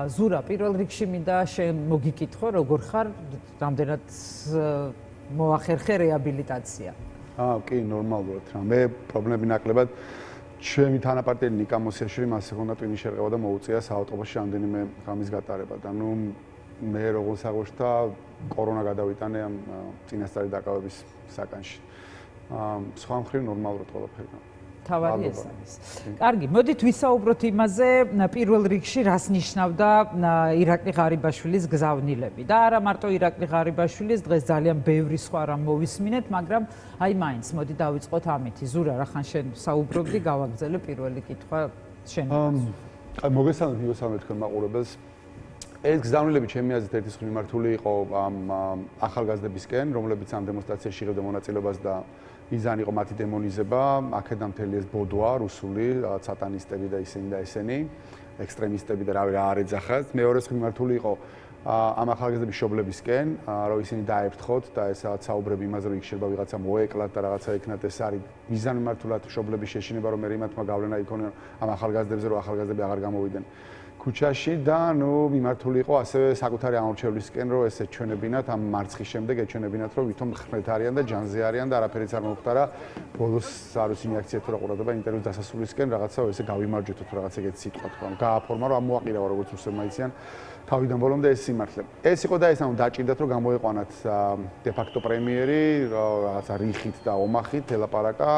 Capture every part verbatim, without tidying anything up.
ზურა, პირველ რიგში მინდა შენ მოგიკითხო, როგორ ხარ, რამდენად მოახერხე რეაბილიტაცია? აა, კი, ნორმალურად რა. მე პრობლემები ნაკლებად ჩემი თანაპარტიელი ნიკა მოსიაშვილი მასე ხონდა ტვინის შერყევა და მოუწია საავტობუსში რამდენიმე ღამის გატარება და ნუ მე როგორ საღოშთა კორონა გადავიტანე ამ წინასწარი დაკავების საკანში. აა, სხვა მხრივ ნორმალურად ყველაფერი. თავარი ეს არის. კარგი, მოდით ვისაუბროთ იმაზე, პირველ რიგში რას ნიშნავდა ირაკლი ღარიბაშვილის გზავნილები და არა მარტო ირაკლი ღარიბაშვილის, დღეს ძალიან ბევრი სხვა რამ მოვისმინეთ, მაგრამ აი მაინც მოდი დავიწყოთ ამითი. ზურა, რახან შენ საუბრობდი, გავაგრძელე პირველი კითხვა შენ. აი მოგესალმებით, მოგესალმებით თქვენ მაყურებელს. ეს გზავნილები ჩემი აზრით ერთის მიმართული იყო ამ ახალგაზრდებისკენ, რომლებიც ამ დემონსტრაციაში იღებდნენ მონაწილეობას და მიზანი იყო მათი დემონიზება, აქედან მთელი ეს ბოდვა, რუსული, რაღაც სატანისტები და ისინი და ესენი, ექსტრემისტები და რავი რა არ ეძახათ. მეორეს მიმართული იყო ამ ახალგაზრდების მშობლებისკენ, რომ ისინი დაეფრთხოთ და ეს რაღაც საუბრები იმაზე, რომ იქ შეიძლება ვიღაცა მოეკლათ და რაღაცა ეკნათ, ეს არის მიზანი მართულად მშობლების შეშინება, რომ მე იმათმა გავლენა იქონიონ ამ ახალგაზრდებზე, რომ ახალგაზრდები აღარ გამოვიდნენ ქუჩაში და ნუ მიმართული იყო ასევე საკუთარი ამორჩევლისკენ, რომ ეს ეჩვენებინათ ამ მარცხის შემდეგ ეჩვენებინათ, რომ ვითომ ხრეთ არიან და ჯანზე არიან და არაფერიც არ მომხდარა. ბოლოს არ ვიცი რეაქცია თუ რა ყურადღება ინტერვიუს დასასრულისკენ რაღაცა ესე გავიმარჯვეთო თუ რაღაც ეგეთი სიტყვა თქვა. გააფორმა რომ ამოაყირავა როგორც რუსებმა იციან თავიდან ბოლომდე ეს სიმართლე. ეს იყო და ეს ანუ დაჭირდათ რომ გამოიყვანათ დე ფაქტო პრემიერი რაღაცა რიხით და ომახით ელაპარაკა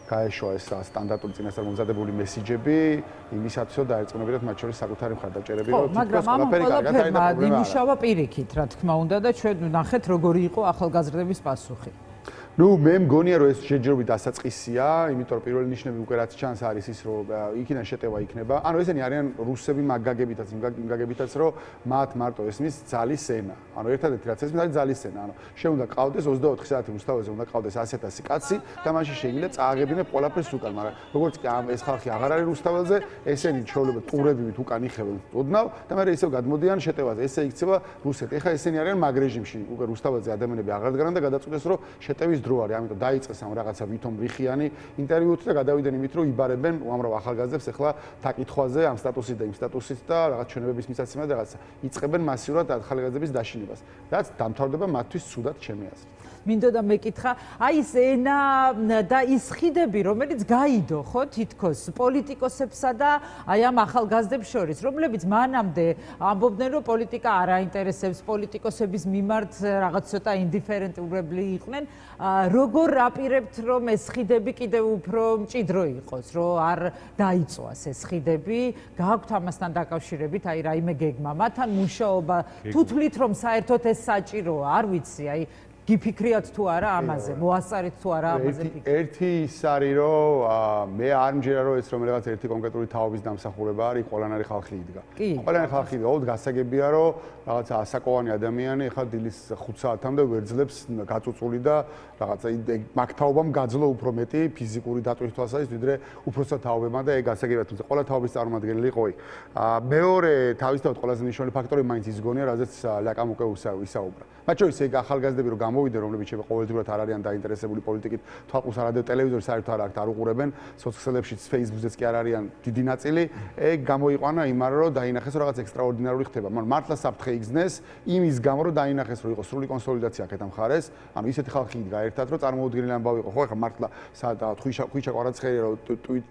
გაეშვა ეს სტანდარტული წინასწარ მომზადებული მესიჯები იმისათვის რომ დაერწმუნებინათ მათ შორის საკუთარი მხარდაჭერები რომ თითქოს ყველაფერი კარგად არის და პრობლემა იმუშავა პირიქით რა თქმა უნდა და ჩვენ ნახეთ როგორი იყო ახალგაზრდების პასუხი. ნუ მე მგონია რომ ეს შეჯერობით დასაწყისია, იმიტომ რომ პირველი ნიშნები უკვე რაც ჩანს არის ის რომ იქიდან შეტევა იქნება. ანუ ესენი არიან რუსები მაგაგებითაც, მაგაგებითაც რომ მათ მარტო ესმის ძალის ენა. ანუ ერთადერთი რაც ესმის არის ძალის ენა. ანუ შენ უნდა ყავდეს ოცდაოთხი საათი რუსთავაზე უნდა ყავდეს ასეთ ასი კაცი და მაშინ შეიძლება წააღებინე ყველაფერს უკან, მაგრამ როგორც კი ამ ეს ხალხი აღარ არის რუსთავაზე, ესენი ჩვეულებრივ ტურებივით უკან იხევენ ოდნავ და მე ისევ გადმოდიან შეტევაზე. ესე იქცევა რუსეთი. ეხლა ესენი არიან მაგ რეჟიმში, უკვე რუსთავაზე ადამიანები აღარ დგანან და გადაწყვეტეს რომ შეტევის დრო არის, ამიტომ დაიწყეს ამ რაღაცა ვითომ რიხიანი ინტერვიუთ და გადავიდნენ იმით, რომ იბარებენ უამრავ ახალგაზრდებს ახლა დაკითხვაზე ამ სტატუსით და იმ სტატუსით და რაღაც ჩვენებების მისაცემად რაღაცა იწყებენ მასიურად ახალგაზრდების დაშინებას. რაც დამთავრდება მათთვის ცუდად ჩემი აზრით. მინდოდა მეკითხა, აი ეს ენა და ის ხიდები, რომელიც გაიდო, ხო, თითქოს პოლიტიკოსებსა და აი ამ ახალგაზრდებს შორის, რომლებიც მანამდე ამბობდნენ, რომ პოლიტიკა არ აინტერესებს, პოლიტიკოსების მიმართ რაღაც ცოტა ინდიფერენტურები იყვნენ, როგორ აპირებთ, რომ ეს ხიდები კიდევ უფრო მჭიდრო იყოს, რომ არ დაიწვას ეს ხიდები, გააქვთ ამასთან დაკავშირებით, აი რაიმე გეგმა, მათთან მუშაობა, თუ თვლით, რომ საერთოდ ეს საჭიროა, არ ვიცი, აი გიფიქრიათ თუ არა ამაზე, მოასწარეთ თუ არა ამაზე ფიქრი. ერთი ის არის, რომ მე არ მჯერა, რომ ეს რომ რაღაც ერთი კონკრეტული თაობის დამსახურება არის, ყველანაირი ხალხი იდგა. ყველანაირი ხალხი იდგა, ოღონდ გასაგებია, რომ რაღაცა ასაკოვანი ადამიანი ახლა დილის ხუთ საათამდე ვერძლებს გაწუწული და რაღაცა მაგ თაობამ გაძლო უფრო მეტი ფიზიკური დატვირთვა თვალსაზრისით, ვიდრე უფროსად თაობებმა და ეგ გასაგებია, თუმცა ყველა თაობის წარმომადგენელი იყო იქ. მეორე თავისთავად ყველაზე მნიშვნელოვანი ფაქტორი მაინც ის გონია, რაზეც ლაკამ უკვე ვისაუბრა. მათ შორის ეგ ახალგაზრდები რომ გამოვიდნენ, რომლებიც შეიძლება ყოველდღურად არ არიან დაინტერესებული პოლიტიკით, თვალყურს არადევ ტელევიზორს საერთოდ არ აქვთ, არ უყურებენ, სოციალებში, Facebook-ზეც კი არ არიან დიდი ნაწილი, ეგ გამოიყვანა იმარ რომ დაინახეს რომ რაღაც ექსტრაორდინარული ხდება. მაგრამ მართლა საფრთხე იგზნეს იმის გამო რომ დაინახეს რომ იყო სრული კონსოლიდაცია აქეთ ამ მხარეს, ანუ ისეთი ხალხი იდგა ერთად რომ წარმოუდგენელი ამბავი იყო. ხო, ახლა მართლა სადაა ხვიჩა ხვიჩა კვარაცხელია რომ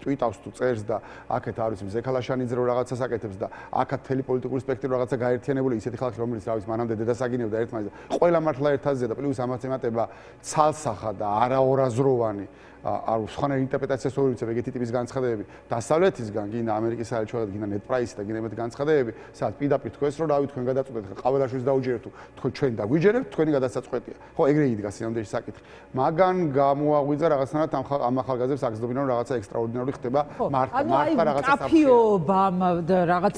ტვიტავს თუ წერს და აქეთ არ ვიცი ზექალაშანიძე რომ რაღაცას აკეთებს და აქაც თელი პოლიტიკური სპექტრი რაღაცა გაერთიანებული ისეთი ხალხი რომელიც რა ვიცი მანამდე დედას აგინებდა ერთმანეთს ყველა მართლა ერთაზეა და პლუს ამაც ემატება ცალსახა და არაორაზროვანი არ სხვანაირი ინტერპრეტაციას ვერ ვიცი ეგეთი ტიპის განცხადებები დასავლეთისგან გინდა ამერიკის საელჩოებად გინდა net price და გინდა მეტ განცხადებები სადაც პირდაპირ თქვენს რომ რავი თქვენ გადაწყვეტეთ ყაველაშვილს დაუჯერებთ თუ თქვენ ჩვენ დაგვიჯერებთ თქვენი გადასაწყვეტია ხო ეგრე იდგა სინამდვილეში საკითხი მაგან გამოაღვიძა რაღაცნაირად ამ ახალგაზრდებს აგზნობინა რომ რაღაცა ექსტრაორდინარული ხდება მართლა მართლა რაღაცა კაფიობამ და რაღაც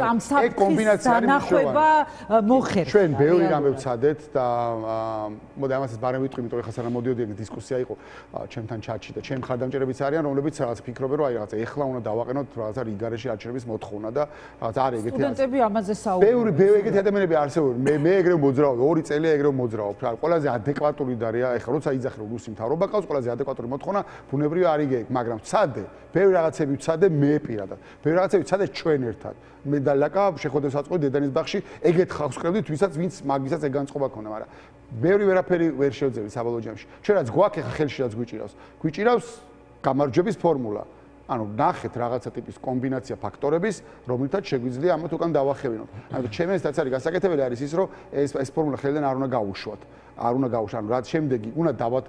ამ საკითხის დანახვება მოხერხდა ჩვენ ბევრი რამე ვცადეთ და მოდი ამასაც ბარემ ვიტყვი იმიტომ ეხლა სანამ მოდიოდი ეგ დისკუსია იყო ჩემთან თან ჩატში და ჩემ ხარდამჭერებიც არიან, რომლებიც რაღაც ფიქრობენ, რომ აი რაღაცა ეხლა უნდა დავაყენოთ რაღაცა რიგარეში არჩევნების მოთხოვნა და რაღაცა არის ეგეთი. სტუდენტები ამაზე საუბრობენ. ბევრი ბევრი ეგეთი ადამიანები არსებობენ. მე მე ეგრევე მოძრაობ, ორი წელია ეგრევე მოძრაობ. ყველაზე ადეკვატური და რა, ეხლა როცა იძახე რომ რუსი მთავრობა ყავს, ყველაზე ადეკვატური მოთხოვნა ბუნებრივი არ იგე, მაგრამ ცადე, ბევრი რაღაცები ვცადე მე პირადად. ბევრი რაღაცები ვცადე ჩვენ ერთად. მე და ლაკა შეხვედრებს აწყობდი დედანის ბაღში, ეგეთ ხალხს ვკრებდით, ვისაც ვინც მაგისაც ეგ განწყობა ქონდა, მაგრამ ბევრი ვერაფერი ვერ შევძლებთ საბოლოო ჯამში. ჩვენ რაც გვაქვს ახლა ხელში რაც გვიჭირავს. გვიჭირავს გამარჯვების ფორმულა. ანუ ნახეთ რაღაცა ტიპის კომბინაცია ფაქტორების, რომლითაც შეგვიძლია ამათ უკან დავახევინოთ. ანუ ჩემს ესაც არის გასაკეთებელი არის ის, რომ ეს ეს ფორმულა ხელიდან არ უნდა გაუშვათ. არ უნდა გაუშვათ. ანუ რაც შემდეგი უნდა დავათ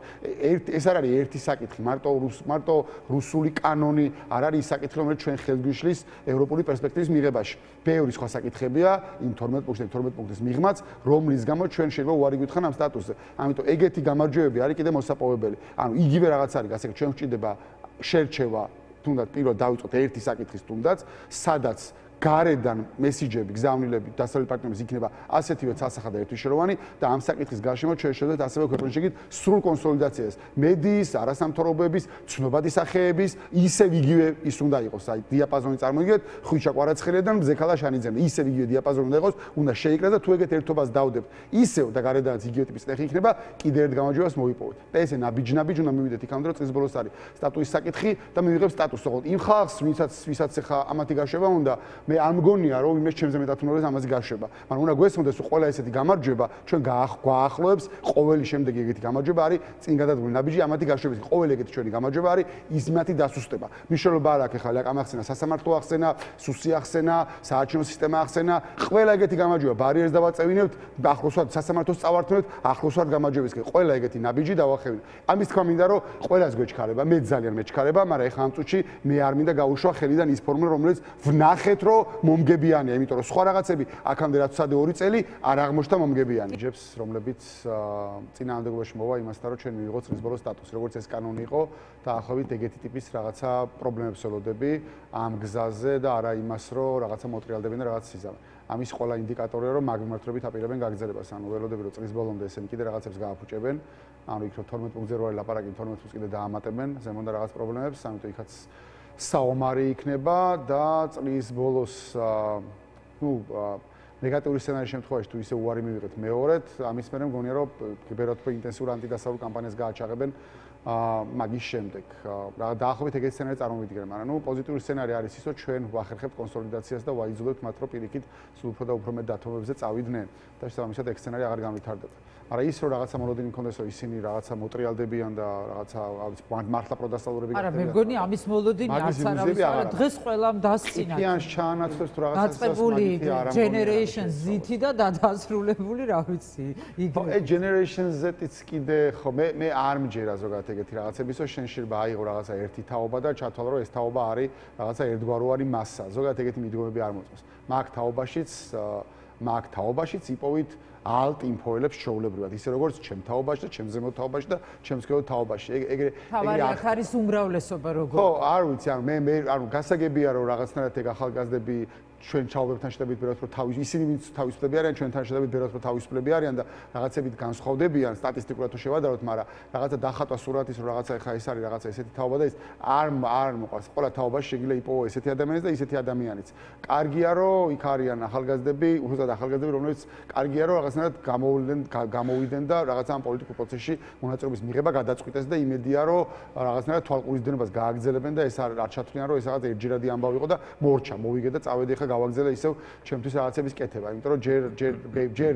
ეს არ არის ერთი საკითხი, მარტო რუს მარტო რუსული კანონი არ არის ის საკითხი, რომელიც ჩვენ ხელგვიშლის ევროპული პერსპექტივის მიღებაში. ბევრი სხვა საკითხებია იმ თორმეტ პუნქტში, თორმეტ პუნქტის მიღმაც, რომლის გამო ჩვენ შეიძლება უარი გვითხრან ამ სტატუსზე. ამიტომ ეგეთი გამარჯვებები არის კიდე მოსაპოვებელი. ანუ იგივე რაღაც არის გასაკეთებელი, ჩვენ გვჭირდება შერჩევა თუნდაც პირველ დავიწყოთ ერთი საკითხის თუნდაც, სადაც გარედან მესიჯები, გზავნილები, დასავლელი პარტნიორების იქნება ასეთივე ცალსახა და ერთვიშეროვანი და ამ საკითხის გარშემო ჩვენ შევძლებთ ასევე ქვეყნის შეგით სრულ კონსოლიდაციას. მედიის, არასამთავრობოების, ცნობადი სახეების, ისევ იგივე ის უნდა იყოს, აი დიაპაზონი წარმოგიდგენთ, ხვიჩა კვარაცხელიიდან მზექალა შანიძემ, ისევ იგივე დიაპაზონი უნდა იყოს, უნდა შეიკრას და თუ ეგეთ ერთობას დავდებთ, ისევ და გარედანაც იგივე ტიპის ტექნიკა იქნება, კიდევ ერთ გამარჯვებას მოვიპოვოთ. და ესე ნაბიჯ-ნაბიჯ უნდა მივიდეთ იქამდე, რომ წლის ბოლოს არის სტატუსის საკითხი და მივიღებთ სტატუსს. ოღონდ იმ ხალხს, ვისაც ვისაც ახლა ამათი გარშება უნდა მე არ მგონია რომ იმის ჩემზე მეტად უნდა ამაზე გარშება. მაგრამ უნდა გვესმოდეს რომ ყველა ესეთი გამარჯვება ჩვენ გააახლოებს ყოველი შემდეგი ეგეთი გამარჯვება არის წინ გადადგმული ნაბიჯი ამათი გარშემოს. ყოველი ეგეთი ჩვენი გამარჯვება არის ისმათი დასუსტება. მნიშვნელობა არ აქვს ახლა ამახსენა სასამართლო ახსენა, სუსი ახსენა, საარჩევნო სისტემა ახსენა. ყველა ეგეთი გამარჯვება ბარიერს დავაწევინებთ, ახლოს ვართ სასამართლოს წავართმევთ, ახლოს ვართ გამარჯვებისკენ. ყველა ეგეთი ნაბიჯი დავახევინებთ. ამის თქმა მინდა რომ ყველას გვეჩქარება, მე ძალიან მეჩქარება, მაგრამ ეხლა ამ წუთში მე არ მინდა გაუშვა ხელიდან ის ფორმულა რომელიც ვნახეთ რომ მომგებიანია, იმიტომ რომ სხვა რაღაცები აქამდე რაც ვცადე ორი წელი არ აღმოჩნდა მომგებიანი. ჯებს, რომლებიც წინააღმდეგობაში მოვა იმასთან, რომ ჩვენ მივიღოთ წლის ბოლოს სტატუსი, როგორც ეს კანონი იყო და ახლობით ეგეთი ტიპის რაღაცა პრობლემებს ველოდები ამ გზაზე და არა იმას, რომ რაღაცა მოტრიალდებენ და რაღაც იზამენ. ამის ყველა ინდიკატორია, რომ მაგმართობით აპირებენ გაგრძელებას. ანუ ველოდები, რომ წლის ბოლომდე ესენი კიდე რაღაცებს გააფუჭებენ. ანუ იქ რომ თორმეტ პუნქტზე რო არის ლაპარაკი, თორმეტ პუნქტს კიდე დაამატებენ, ზემოდან რაღაც პრობლემებს, ამიტომ იქაც საომარი იქნება და წლის ბოლოს ნუ ნეგატიური სცენარის შემთხვევაში თუ ისე უარი მივიღეთ მეორედ, ამის მერე მგონია რომ კიბერათ ინტენსიურ ანტიდასავლურ კამპანიას გააჩაღებენ მაგის შემდეგ. რა დაახლოებით ეგეთი სცენარი წარმოვიდგენ, მაგრამ ნუ პოზიტიური სცენარი არის ის, რომ ჩვენ ვახერხებთ კონსოლიდაციას და ვაიძულებთ მათ, რომ პირიქით სულ უფრო და უფრო მეტ დათმობებზე წავიდნენ და შესაბამისად ეგ სცენარი აღარ განვითარდება. მაგრამ ის რომ რაღაცა მოლოდინი მქონდეს, რომ ისინი რაღაცა მოტრიალდებიან და რაღაცა მართლა პროდასტალურები გახდებიან. არა, მე მგონი ამის მოლოდინი არც არავის არა, დღეს ყველამ დასწინა. იქიანს ჩაანაცვლეს თუ რაღაცა დაწყებული Generation Z-ი და დადასრულებული, რა ვიცი. ხო, ეს Generation Z-იც კიდე ხო მე მე არ მჯერა ზოგადად ეგეთი რაღაცების, რომ შენ შეიძლება აიღო რაღაცა ერთი თაობა და ჩათვალო, რომ ეს თაობა არის რაღაცა ერთგვაროვანი მასა. ზოგადად ეგეთი მიდგომები არ მოწმობს. მაგ თაობაშიც მაგ თაობაშიც იპოვით ალტ ინფოელებს ჩაულებრივად, ისე როგორც ჩემ თაობაში და ჩემ ზემოთ თაობაში და ჩემს ქეო თაობაში. ეგრე ეგრე აქ არის უმრავლესობა როგორ? ხო, არ ვიცი, ანუ მე მე ანუ გასაგებია რომ რაღაცნაირად ეგ ახალგაზრდები ჩვენ ჩაულებთან შედებით ბერად რომ თავის ისინი ვინც თავისუფლები არიან, ჩვენთან შედებით ბერად რომ თავისუფლები არიან და რაღაცებით განსხვავდებიან სტატისტიკურად თუ შევადაროთ, მაგრამ რაღაცა დახატვა სურათის რომ რაღაცა ეხა ეს არის რაღაცა ესეთი თაობა და ის არ არ მოყავს. ყველა თაობაში შეგიძლია იპოვო ესეთი ადამიანიც და ისეთი ადამიანიც. კარგია რომ იქ არიან ახალგაზრდები, უბრალოდ ახალგაზრდები, რომლებიც კარგია რომ რაღაცნაირად გამოვიდნენ გამოვიდნენ და რაღაცა ამ პოლიტიკურ პროცესში მონაწილეობის მიღება გადაწყვიტეს და იმედია რომ რაღაცნაირად თვალყურისდენობას გააგრძელებენ და ეს არ ჩათვლიან რომ ეს რაღაც ერთჯერადი ამბავი იყო და მორჩა, მოვიგე და წავედი ხა გავაგზელე ისევ ჩემთვის რაღაცების კეთება, იმიტომ რომ ჯერ ჯერ ჯერ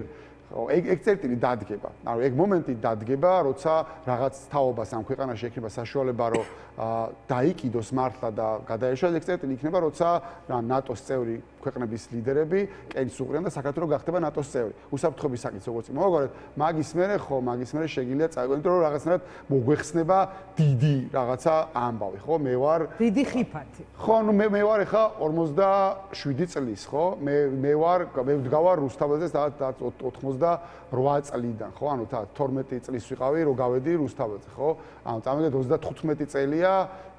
ეგ ეგ წერტილი დადგება. ანუ ეგ მომენტი დადგება, როცა რაღაც თაობას ამ ქვეყანაში ექნება საშუალება, რომ დაიკიდოს მართლა და გადაეშვას, ეგ წერტილი იქნება, როცა ნატოს წევრი ქვეყნების ლიდერები კენს უყრიან და საქართველოს გახდება ნატოს წევრი. უსაფრთხოების საკითხი როგორც მოვაგვარეთ, მაგის მერე ხო, მაგის მერე შეგიძლია წაიყვანოთ, იმიტომ რომ რაღაცნაირად მოგვეხსნება დიდი რაღაცა ამბავი, ხო? მე ვარ დიდი ხიფათი. ხო, ნუ მე მე ვარ ახლა ორმოცდაშვიდი წლის, ხო? მე მე ვარ მე ვდგავარ რუსთაველზე ოცდაოთხმოცდარვა წლიდან, ხო? ანუ თორმეტი წლის ვიყავი, რომ გავედი რუსთაველზე, ხო? ანუ წამოვიდეთ ოცდათხუთმეტი წელია,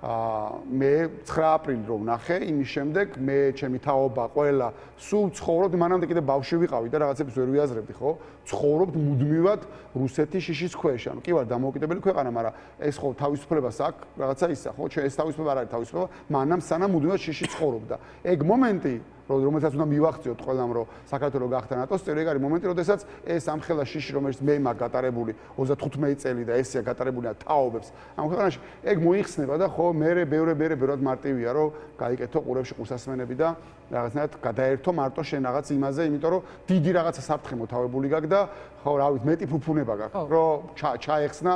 მე ცხრა აპრილი რომ ნახე, იმის შემდეგ მე ჩემი თაობა ყველა სულ ცხოვრობდი, მანამდე კიდე ბავშვი ვიყავი და რაღაცებს ვერ ვიაზრებდი, ხო? ცხოვრობთ მუდმივად რუსეთის შიშის ქვეშ. ანუ კი ვარ დამოუკიდებელი ქვეყანა, მაგრამ ეს ხო თავისუფლებას აქვს, რაღაცა ისა, ხო? ჩვენ ეს თავისუფლება არ არის თავისუფლება, მანამ სანამ მუდმივად შიში ცხოვრობდა. ეგ მომენტი რომელსაც უნდა მივახციოთ ყველამ, რომ საქართველოს გახდა ნატოს წევრი, ეგ არის მომენტი, როდესაც ეს ამხელა შიში, რომელიც მე მაქვს გატარებული ოცდათხუთმეტი წელი და ესია გატარებული თაობებს ამ ქვეყანაში, ეგ მოიხსნება და ხო მე ბევრე ბევრე ბევრად მარტივია, რომ გაიკეთო ყურებში ყურსასმენები და რაღაცნაირად გადაერთო მარტო შენ რაღაც იმაზე, იმიტომ რომ დიდი რაღაცა საფრთხე მოთავებული გაქვს და ხო რა ვიცი, მეტი ფუფუნება გაქვს, რომ ჩაეხსნა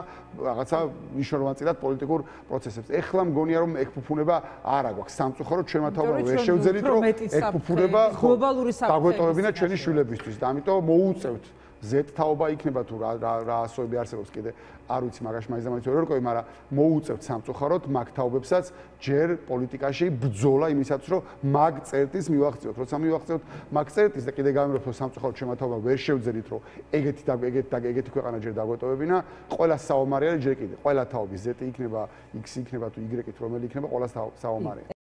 რაღაცა მნიშვნელოვანწილად პოლიტიკურ პროცესებს. ეხლა მგონია რომ ეგ ფუფუნება არ აგვაქვს სამწუხაროდ ჩვენმა თაობამ ვერ შევძელით, რომ ეგ ფუფუნება გლობალური საფრთხე დაგვეტოვებინა ჩვენი შვილებისთვის და ამიტომ მოუწევთ ზეთ თაობა იქნება თუ რა რა ასოები არსებობს კიდე არ ვიცი მაგაში მაინც და მაინც ვერ ვერკვევი, მაგრამ მოუწევთ სამწუხაროდ მაგ თაობებსაც ჯერ პოლიტიკაში ბრძოლა იმისაც, რომ მაგ წერტის მივახციოთ. როცა მივახციოთ მაგ წერტის და კიდე გამივრობთ, რომ სამწუხაროდ ჩვენმა თაობამ ვერ შევძელით, რომ ეგეთი და ეგეთი და ეგეთი ქვეყანა ჯერ დაგვეტოვებინა, ყველა საომარი არის ჯერ კიდე. ყველა თაობის ზეტი იქნება, X იქნება თუ Y-ით, რომელი იქნება, ყველა საომარი.